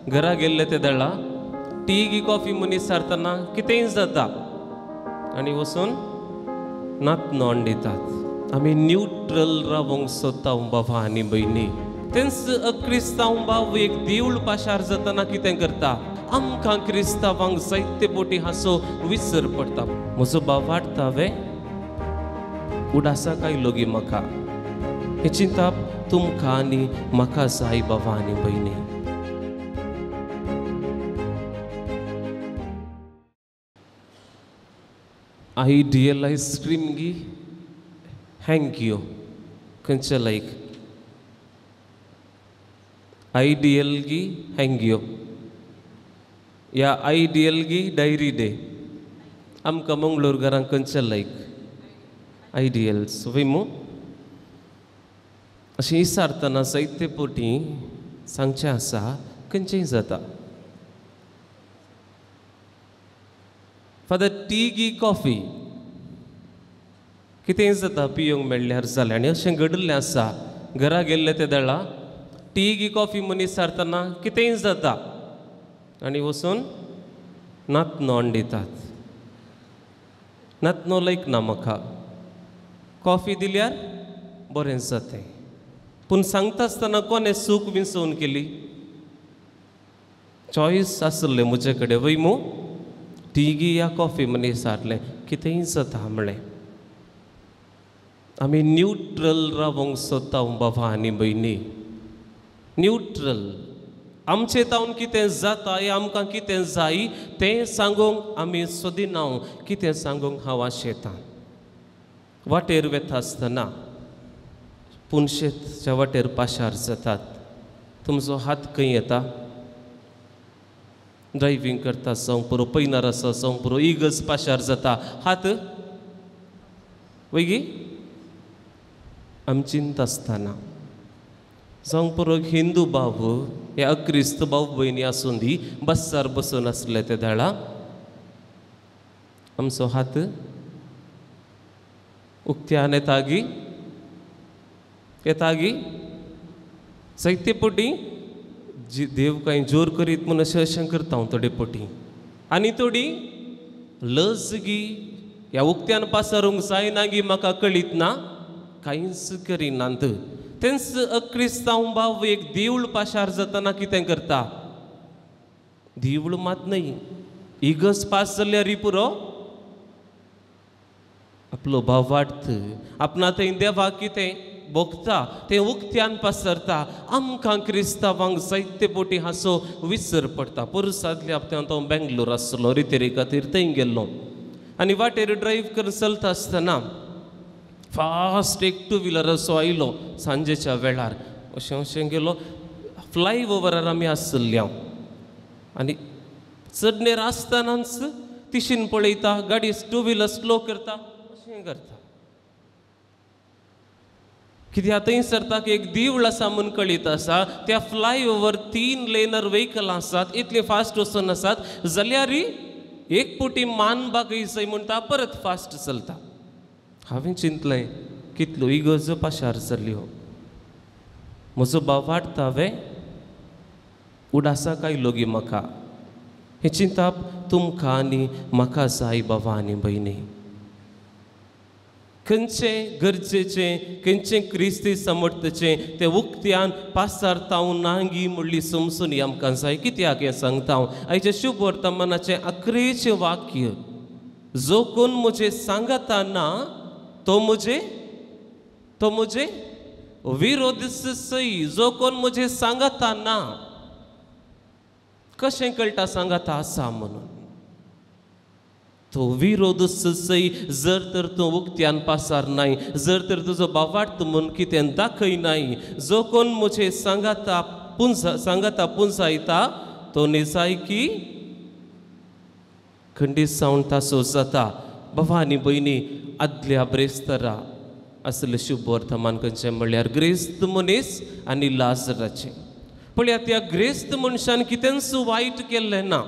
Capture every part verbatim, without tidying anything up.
घरा गेल्ले ते दळा टी गी कॉफी मनीस सारतना कितेंय जाता आनी वचून नातनो दितात. आमी न्यूट्रल रावंक सोदता बाबा आनी भयणी. तेंच क्रिस्तांव बाब एक देवूळ पाशार जातना कितें करता, आमकां क्रिस्तांवांक जायते बोटी हांसो विसर पडटा. म्हजो भाव वाडटा वे उडासा काय लोगी म्हाका, हें चिंताप तुमकां आनी म्हाका जाय बाबा आनी भयणी. आयडियल आयस्क्रीम गी thank you खंयचे लायक आयडियल गी thank you या आयडियल गी डायरी डे आमकां मंगळूर घरांक खंयचे लायक आयडियल्स वय मू. अशें विचारतना जायते पोटी सांगचें आसा खंयचेंय जाता. फादर टी गी कॉफी कितेंय जाता पिवंक मेळ्ळ्यार जालें. आनी अशें घडिल्लें आसा घरा गेल्ले ते दळा टी गी कॉफी मनीस सारतना कितेंय जाता आनी वचून नातनो दितात. नातनो लायक ना म्हाका, कॉफी दिल्यार बरें जातें. पूण सांगता आसतना कोणें सूख विंचोवन केली, चॉयस आसलें म्हजे कडेन वय मू, टी गी या कॉफी मनीस सारलें कितेंय जाता म्हणलें. आमी न्यूट्रल रावंक सोदता बाबा आनी भयणी. न्यूट्रल आमचे तावन कितें जाता या आमकां कितें जाय तें सांगूंक आमी सोदिना, कितें सांगूंक हांव आशेतां. वाटेर वेता आसतना पुनशेच्या वाटेर पाशार जातात, तुमचो हात खंय येता, ड्रायव्हींग करता जावंक पुरो, पयनार आसा जावंक पुरो, इगर्ज पाशार जाता हात वयगी आमी चिंता आसतना जावंक पुरो. हिंदू भाव या अक्रिस्त भाव भयणी आसूं दी बस्सार बसून आसले ते दाळा आमचो हात उक्त्यान येता गी येता गी जायते पोटी जी देव कांय जोर करीत म्हूण अशें अशें करता हांव थोडे पोटी आनी थोडी लज गी ह्या उक्त्यान पासारूंक जायना गी म्हाका कळीत ना कांयच करिनात. तेंच अक्रिस्तांव भाव एक देवूळ पाशार जातना कितें करता, देवूळ मात न्हय इगर्ज पास जाल्यार पुरो आपलो भाव वाडत आपणा थंय देवाक कितें भोगता तें उक्त्यान पसरता. आमकां क्रिस्तांवांक जायते पोटी हांसो विसर पडटा. पोरूं आदल्या हप्त्यांत हांव बेंगलोर आसलो, रितेरी खातीर थंय गेल्लो आनी वाटेर ड्रायव्ह करून चलता आसतना फास्ट एक टू व्हिलर असो आयलो सांजेच्या वेळार, अशें अशें गेलो फ्लाय ओवरार आमी आसल्ले हांव आनी चडणेर आसतनाच तिशीन पळयता गाडी टू व्हिलर स्लो करता अशें करता कित्याक थंय सरता की एक देवूळ आसा म्हूण कळीत आसा, त्या फ्लाय ओवर तीन लेनर व्हेकल आसात इतले फास्ट वचून आसात जाल्यार एक पुटी मान बागय जाय म्हणटा परत फास्ट चलता. हांवें चिंतलें कितल्यो इगर्जो पाशार जाल्यो, म्हजो भाव वाडटा वे उडासा काय लोगी म्हाका, हें चिंताप तुमकां आनी म्हाका जाय बाबा आनी भयणी. खंयचें गरजेचें खंयचें क्रिस्ती समर्थचें तें उक्त्यान पासारतांव नांगी म्हणली समजून आमकां जाय. कित्याक हें सांगता हांव, आयचें शुभ वर्तमानाचें अकरेचें वाक्य, जो कोण म्हजें सांगता ना तो म्हजे तो म्हजे विरोध सई. जो कोण म्हजें सांगता ना, कशें कळटा सांगता आसा म्हणून, तो विरोध सई. जर तर तूं उक्त्यान पासार नाय, जर तर तुजो बावाट म्हूण कितें दाखय नाय, जो कोण म्हजें सांगता पुंजा सांगता पुंजायता तो निजायकी खंडीत जावन तासो जाता. बाबा आनी भयणी, आदल्या ब्रेस्तरा आसलें शुभ वर्तमान खंयचें म्हणल्यार ग्रेस्त मनीस आनी लाजराचें. पळयात त्या ग्रेस्त मनशान कितेंच वायट केल्लें ना,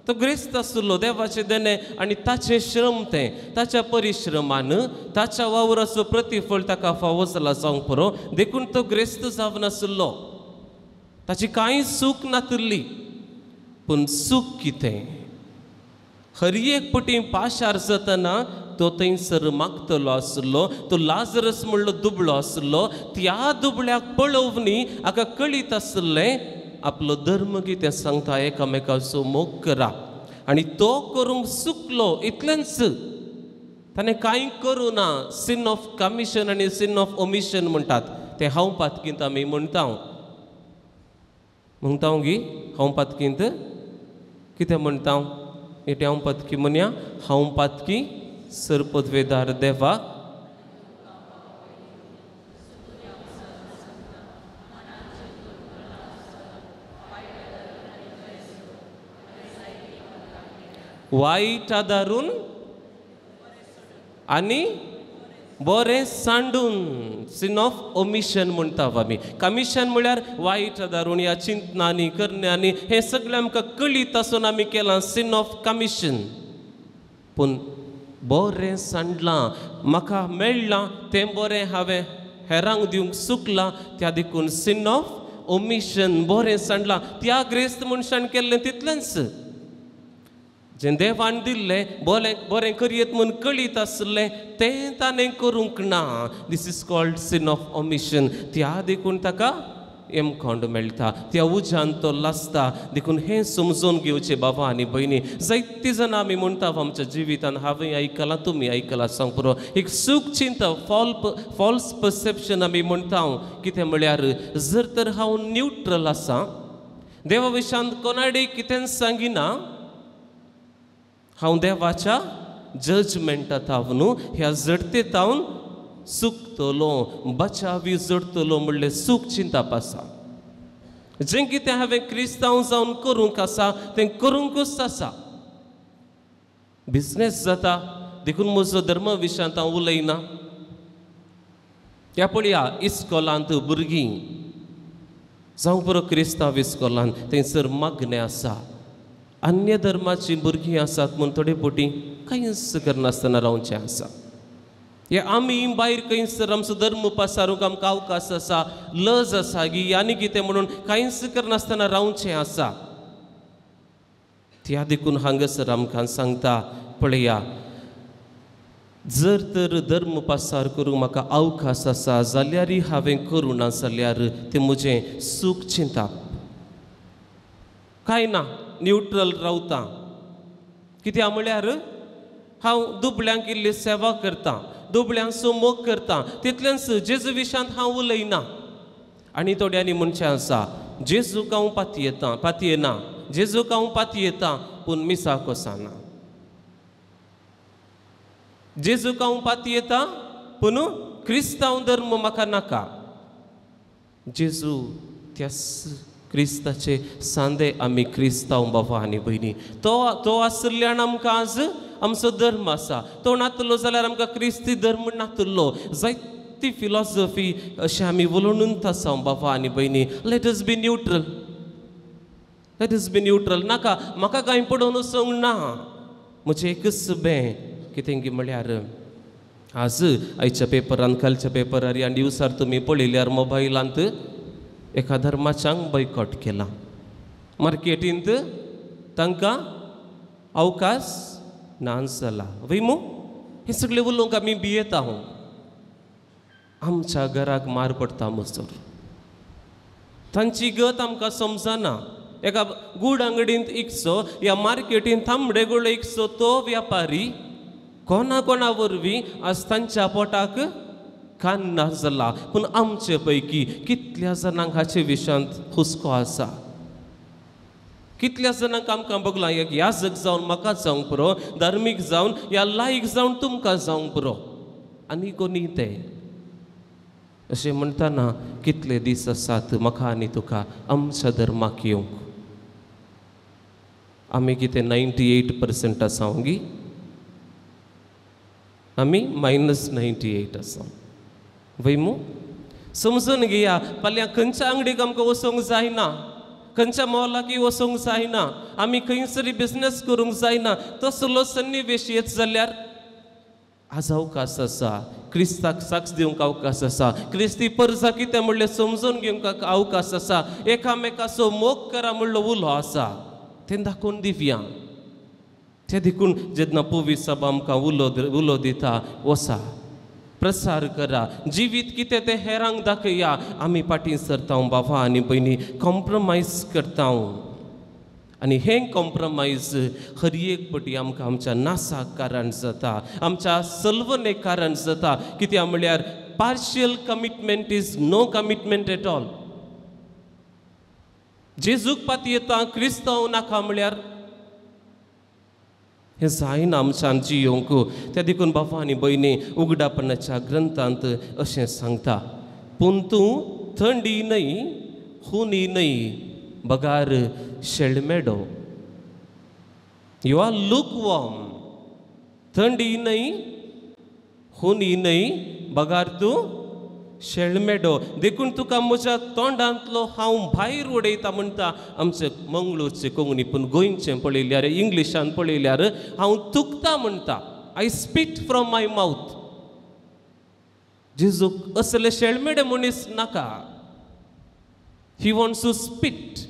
तो ग्रेस्त आसलो देवाचें देणें आनी ताचें श्रम तें ताच्या परिश्रमान ताच्या वावराचो प्रतिफळ ताका फावो जाला जावंक पुरो, देखून तो ग्रेस्त जावन आसलो. ताची कांय चूक नातिल्ली, पूण चूक कितें? हर एक पटी पाशार जातना तो थंयसर मागतलो आसलो, तो लाजरस म्हणलो दुबळो आसलो. त्या दुबळ्याक पळोवनी हाका कळीत आसलें आपलो धर्म कितें सांगता, एकामेकाचो मोग करा. आनी तो करूंक चुकलो इतलेंच, ताणें कांय करूं ना. सिन ऑफ कमिशन आनी सिन ऑफ ओमिशन म्हणटात तें हांव पातकींत आमी म्हणटा म्हणटा गी हांव पातकींत कितें म्हणटा? एटे हांव पातकी म्हणया, हांव पातकी सरपदवेदार देवाक वायट आदारून आनी बरें सांडून. सिन ऑफ ओमिशन म्हणटा आमी. कमिशन म्हळ्यार वायट आदारून ह्या चिंतनांनी करण्यांनी हें सगळें आमकां कळीत आसून आमी केलां सिन ऑफ कमिशन. पूण बरें सांडलां, म्हाका मेळ्ळां तें बरें हांवें हेरांक दिवंक चुकलां, त्या देखून सिन ऑफ ओमिशन बरें सांडलां. त्या ग्रेस्त मनशान केल्लें तितलेंच, जें देवान दिल्लें बरें बरें करयेत म्हूण कळीत आसलें तें ताणें करूंक ना. This is called sin of omission. त्या देखून ताका येमकोंड मेळटा, त्या उज्यान तो लासता. देखून हें समजून घेवचें बाबा आनी भयणी. जायतीं जाणां आमी म्हणटा आमच्या जिवितान, हांवें आयकलां तुमी आयकलां सांग पुरो, एक सूख चिंता फॉल फॉल्स परसेप्शन आमी म्हणटा. कितें म्हळ्यार जर तर हांव न्यूट्रल आसा, देवा विशांत कोणाडे कितेंच सांगिना, हांव देवाच्या जजमेंटा तावन न्हू ह्या जडते तावन चुकतलो, बचावी जडतलो म्हणलें सूख चिंताप आसा. जें कितें हांवें क्रिस्तांव जावन करूंक आसा तें करूंकूच आसा. बिजनेस जाता देखून म्हजो धर्म विशयांत हांव उलयना. त्या पळया इस्कोलांत भुरगीं जावं पुरो क्रिस्तांव इस्कोलांत थंयसर मागणें आसा, अन्य धर्माचीं भुरगीं आसात म्हूण थोडे फावटी कांयच करनासतना रावचें आसा. हे आमी भायर खंयसर आमचो धर्म पसारूंक आमकां अवकाश आसा, लज आसा गी आनी कितें म्हणून कांयच करनासतना रावचें आसा. त्या देखून हांगासर आमकां सांगता पळया, जर तर धर्म पासार करूंक म्हाका अवकाश आसा जाल्यारय हांवें करूं ना जाल्यार तें म्हजें सूख चिंताप. कांय ना, न्यूट्रल रावता. कित्याक म्हळ्यार हांव दुबळ्यांक इल्ली सेवा करता, दुबळ्यांचो मोग करता, तितलेंच जेजू विशयांत हांव उलयना. आनी थोड्यांनी म्हणचें आसा, जेजूक हांव पातयेता पातयेना, जेजूक हांव पातयेता पूण मिसाक वचना, जेजूक हांव पातयेता पूण क्रिस्तांव धर्म म्हाका नाका. जेजू त्याच क्रिस्ताचे सांदे आमी क्रिस्तांव बाबा आनी भयणी. तो तो आशिल्ल्यान आमकां आज आमचो धर्म आसा. तो नातलो जाल्यार आमकां क्रिस्ती धर्म नातलो. जायती फिलॉसॉफी अशें आमी उलोवनूच आसा बाबा आनी भयणी. Let us be neutral, let us be neutral. नाका म्हाका कांय पडोवन वचूंक ना. म्हजें एकच बें कितें गी म्हळ्यार आज आयच्या पेपरान, कालच्या पेपरार ह्या न्यूजार तुमी पळयल्यार मोबायलांत एका धर्माच्यांक बॉयकॉट केला. मार्केटींत तांकां अवकाश ना जाला. वय मू हें सगळें उलोवंक आमी भियेता. हांव आमच्या घराक मार पडटा मजूर, तांची गत आमकां समजना. एका गूड अंगडींत इकचो ह्या मार्केटींत तांबडे गोळे इकचो तो व्यापारी कोणा कोणा वरवीं आज तांच्या पोटाक कान ना जाला. पूण आमचे पैकी कितल्या जाणांक हाचे विशयांत हुस्को आसा? कितल्या जाणांक आमकां बगलां एक याजक जावन म्हाका जावंक पुरो, धार्मीक जावन या लायक जावन तुमकां जावंक पुरो, आनी कोणी ते अशें म्हणटना कितले दीस आसात म्हाका आनी तुका आमच्या धर्माक येवंक? आमी कितें नायन्टी एट पर्संट आसा गी? आमी मायनस नायन्टी एट आसा वय मू? समजून घेया, फाल्यां खंयच्या आंगडीक आमकां वचूंक जायना, खंयच्या मॉलाकय वचूंक जायना, आमी खंयसरी बिजनेस करूंक जायना, तसलो सन्निवेश येत जाल्यार आज अवकाश आसा, क्रिस्ताक साक्ष दिवंक अवकाश आसा, क्रिस्ती परजा कितें म्हणलें समजून घेवंक अवकाश आसा, एकामेकाचो मोग करा म्हणलो उलो आसा, तें दाखोवन दिवया. तें देखून जेन्ना पवित्र सभा आमकां उलो उलो दिता, वसा प्रसार करा, जिवीत कितें तें हेरांक दाखया. आमी फाटीं सरता बाबा आनी भयणी, कॉम्प्रोमायज करता आनी हें कॉम्प्रोमायज हर एक पटी आमकां आमच्या नासाक कारण जाता, आमच्या सलवणेक कारण जाता. कित्याक म्हळ्यार partial commitment is no commitment at all. जेजूक पातयेता क्रिस्तांव नाका म्हळ्यार हें जायना आमच्यान जियोंक. त्या देखून बाबा आनी भयणी उगडापणाच्या ग्रंथांत अशें सांगता, पूण तूं थंडी न्हय हुनी न्हय बगार शेळमेडो. You are lukewarm. थंडी न्हय हुनी न्हय बगार तूं शेळमेडो. देखून तुका म्हज्या तोंडांतलो हांव भायर उडयता म्हणटा. आमचे मंगळूरचे कोंकणी पूण गोंयचें पळयल्यार इंग्लिशान पळयल्यार हांव थुकता म्हणटा, I spit from my mouth. जेजूक असले शेळमेडे मनीस नाका. He wants to spit.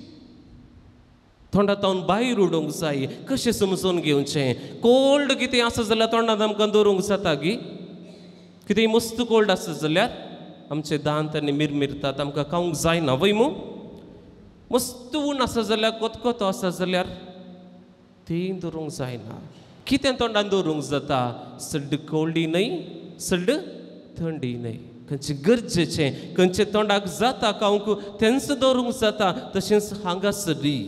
तोंडांत भायर उडोवंक जाय. कशें समजून घेवचें? कोल्ड कितें आसा जाल्यार तोंडांत आमकां दवरूंक जाता गी? कितें मस्त कोल्ड आसा जाल्यार आमचे दांत आनी मिरमिरतात, आमकां खावंक जायना वय मू? मस्त ऊन आसा जाल्यार, कोतकोतो आसा जाल्यार तीं दवरूंक जायना. कितें तोंडांत दवरूंक जाता? सड्ड कोल्डी न्हय, सड्ड थंडी न्हय. खंयचें गरजेचें, खंयचें तोंडाक जाता खावंक तेंच दवरूंक जाता. तशेंच हांगासरी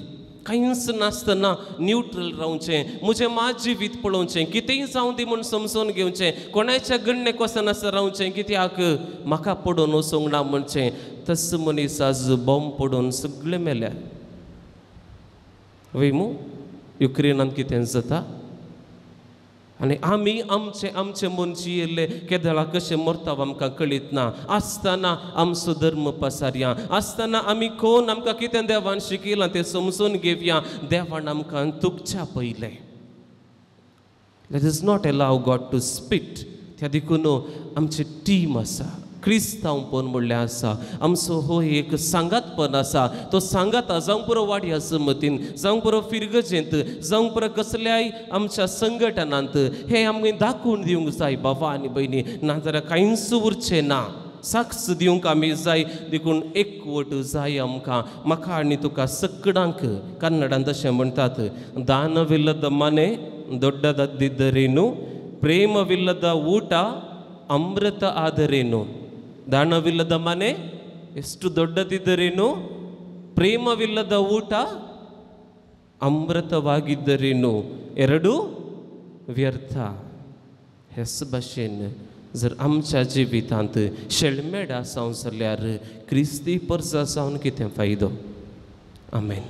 कांयच नासतना न्यूट्रल रावचें, म्हजें मात जिवीत पळोवचें, कितेंय जावं दी म्हूण समजून घेवचें, कोणाच्या गण्णेक वचनासतना रावचें, कित्याक म्हाका पडून वचूंक ना म्हणचें. तस मनीस आज बॉम्ब पडून सगळे मेल्या वय मू? युक्रेनांत कितें जाता आनी आमी आमचे आमचे मन जियेल्ले केदळा कशें मरता आमकां कळीत ना. आसतना आमचो धर्म पसारया, आसतना आमी कोण आमकां कितें देवान शिकयलां तें समजून घेवया. देवान आमकां तुकच्या पयलें. Let us not allow God to spit. त्या देखून आमची टीम आसा, क्रिस्तांवपण म्हणल्यार आसा, आमचो हो एक सांगातपण आसा. तो सांगात जावंक पुरो वाड्या जमतीन, जावंक पुरो फिरगजेंत, जावंक पुरो कसल्याय आमच्या संघटनांत, हें आमकां दाखोवन दिवंक जाय बाबा आनी भयणी. नाजाल्यार कांयच उरचें ना. साक्ष दिवंक आमी जाय. देखून एकवट जाय आमकां. म्हाका आनी तुका सगळ्यांक कन्नडांत अशें म्हणटात, दानविल्लद मने ದೊಡ್ಡದದ್ದಿದ್ದರೇನು, ಪ್ರೇಮವಿಲ್ಲದ ಊಟ ಅಮೃತ ಆದರೇನು. ದಾನವಿಲ್ಲದ ಮನೆ ಎಷ್ಟು ದೊಡ್ಡದಿದ್ದರೇನು, ಪ್ರೇಮವಿಲ್ಲದ ಊಟ ಅಮೃತವಾಗಿದ್ದರೇನು, ಎರಡೂ व्यर्थ. हेच भाशेन जर आमच्या जिवितांत शेळमेड आसा जाल्यार क्रिस्ती परजा जावन कितें फायदो? आमेन.